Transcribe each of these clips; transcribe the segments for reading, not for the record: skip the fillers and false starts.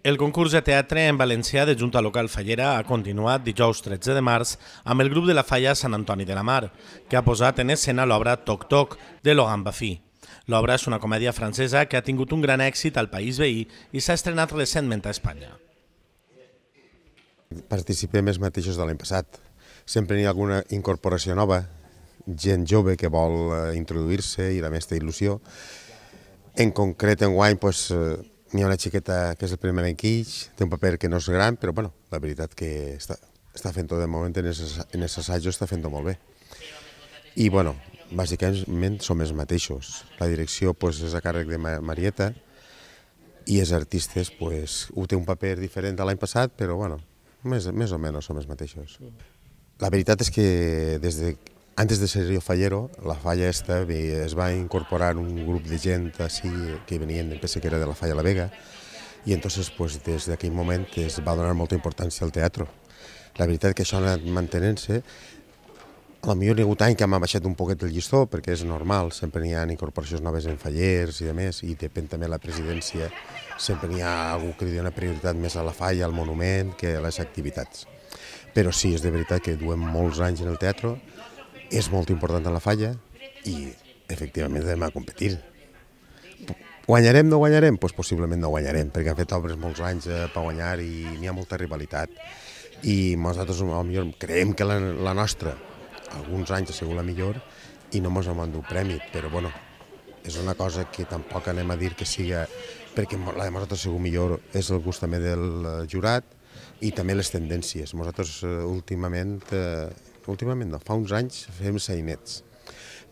El concurs de teatre en valencià de Junta Local Fallera ha continuat dijous 13 de març amb el grup de la Falla Sant Antoni de la Mar, que ha posat en escena l'obra Toc Toc, de Logan Baffy. L'obra és una comèdia francesa que ha tingut un gran èxit al país veí i s'ha estrenat recentment a Espanya. Participem els mateixos de l'any passat. Sempre hi ha alguna incorporació nova, gent jove que vol introduir-se i la més té il·lusió. En concret, enguany, n'hi ha una xiqueta que és el primer any que té un paper que no és gran, però la veritat que està fent-ho de moment en els assajos, està fent-ho molt bé. I bàsicament som els mateixos. La direcció és a càrrec de Marieta i els artistes ho té un paper diferent de l'any passat, però més o menys som els mateixos. La veritat és que antes de ser Río Fallero, la falla esta es va incorporar un grup de gent així que venien, penso que era de la Falla La Vega, i entonces des d'aquell moment es va donar molta importància al teatre. La veritat que això ha anat mantenint-se. A lo millor hi ha hagut anys que m'ha baixat un poquet el llistó, perquè és normal, sempre n'hi ha incorporacions noves en fallers i demés, i depèn també de la presidència, sempre n'hi ha algú que li dona prioritat més a la falla, al monument, que a les activitats. Però sí, és de veritat que duem molts anys en el teatre, és molt important a la falla i, efectivament, anem a competir. Guanyarem, no guanyarem? Doncs possiblement no guanyarem, perquè han fet obres molts anys per guanyar i n'hi ha molta rivalitat. I nosaltres potser creiem que la nostra, alguns anys ha sigut la millor i no ens hem endut premi, però és una cosa que tampoc anem a dir que siga, perquè la de nosaltres ha sigut millor, és el gust també del jurat i també les tendències. Nosaltres últimament no, fa uns anys fem sainets,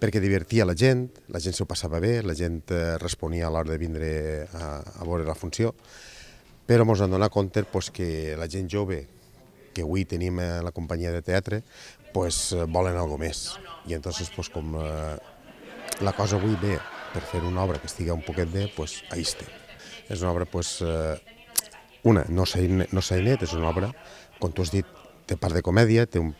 perquè divertia la gent s'ho passava bé, la gent responia a l'hora de vindre a veure la funció, però ens hem donat compte que la gent jove que avui tenim a la companyia de teatre volen alguna més. I entonces, com la cosa avui ve per fer una obra que estigui un poquet bé, ahí estem. És una obra, no sainet, és una obra, com tu has dit, té part de comèdia, té una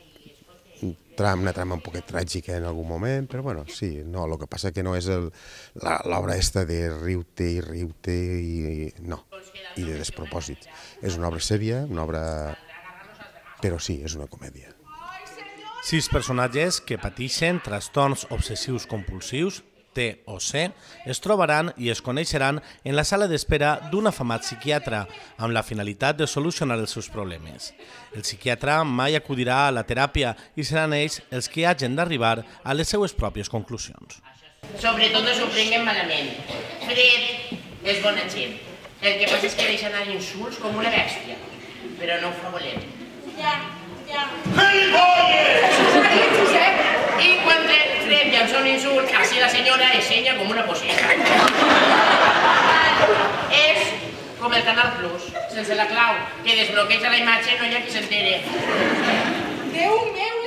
trama un poquet tràgica en algun moment, però sí, no, el que passa que no és l'obra esta de riu-te i de despropòsits. És una obra sèria, però sí, és una comèdia. 6 personatges que pateixen trastorns obsessius compulsius, TOC, es trobaran i es coneixeran en la sala d'espera d'un afamat psiquiatre amb la finalitat de solucionar els seus problemes. El psiquiatre mai acudirà a la teràpia i seran ells els que hagin d'arribar a les seues pròpies conclusions. Sobretot no s'ho prenguen malament. Fred és bona gent. El que passa és que deixa anar insults com una bèstia, però no ho fa volent. Ja. I quan Fred llança un insult, així la senyora ensenya com una poseta. És com el Canal Plus, sense la clau, que desbloqueja la imatge no hi ha qui s'entere. Déu meu!